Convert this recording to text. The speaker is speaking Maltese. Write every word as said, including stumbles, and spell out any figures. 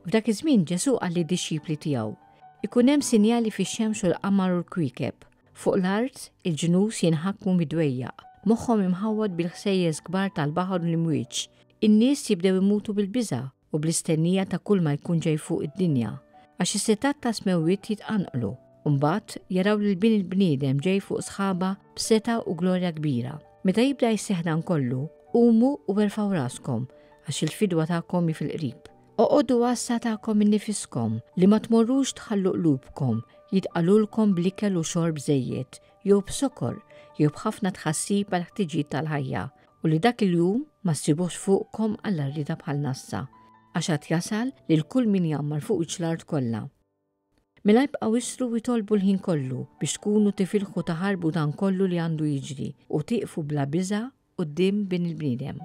F'dak iż-żmien Ġesù qal lid-dixxipli tiegħu, "Ikun hemm sinjali fix-xemx u l-qamar u l-kwiekeb. Fuq l-art il-ġnus jinħakmu mid-dwejjaq, moħħhom imħawwad bil-ħsejjes kbar tal-baħar u l-imwieġ. In-nies jibdew imutu bil-biża' u bl-istennija ta' kull ma jkun ġej fuq id-dinja, għax is-setgħat tas-smewwiet jitqanqlu. Mbagħad jaraw lil Bin il-bniedem ġej fuq sħaba b'setgħa u glorja kbira. Meta jibda jseħħ dan kollu, qumu u erfgħu raskom, għax il-fidwa tagħkom hi fil-qrib. Oqogħdu għassa tagħkom innifiskom li ma tmorrux tħallu qlubkom jitqalulkom bl-ikel u xorb żejjed, jew b'sokor, jew b'ħafna tħassib għal ħtiġijiet tal-ħajja, u li dak il-jum ma ssibux fuqkom għall-għarrieda bħal nassa, għax għad jasal lil kull min jgħammar fuq wiċċ l-art kollha. Mela ibqgħu ishru u itolbu l-ħin kollu biex tkunu tifilħu taħarbu dan kollu li għandu jiġri u tieqfu bla biża' quddiem Bin il-bniedem.